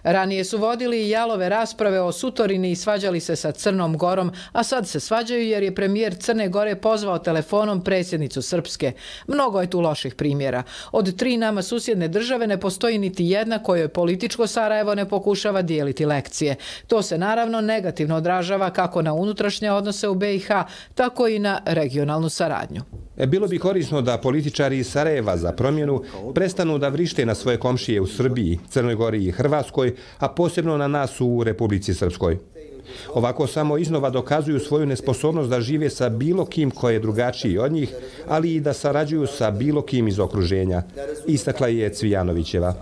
Ranije su vodili i jalove rasprave o Sutorini i svađali se sa Crnom Gorom, a sad se svađaju jer je premijer Crne Gore pozvao telefonom predsjednicu Srpske. Mnogo je tu loših primjera. Od 3 nama susjedne države ne postoji niti jedna kojoj političko Sarajevo ne pokušava dijeliti lekcije. To se naravno negativno odražava kako na unutrašnje odnose u BiH, tako i na regionalnu saradnju. Bilo bi korisno da političari iz Sarajeva za promjenu prestanu da vrište na svoje komšije u Srbiji, Crnoj Gori i Hrvatskoj, a posebno na nas u Republici Srpskoj. Ovako samo iznova dokazuju svoju nesposobnost da žive sa bilo kim ko je drugačiji od njih, ali i da sarađuju sa bilo kim iz okruženja, istakla je Cvijanovićeva.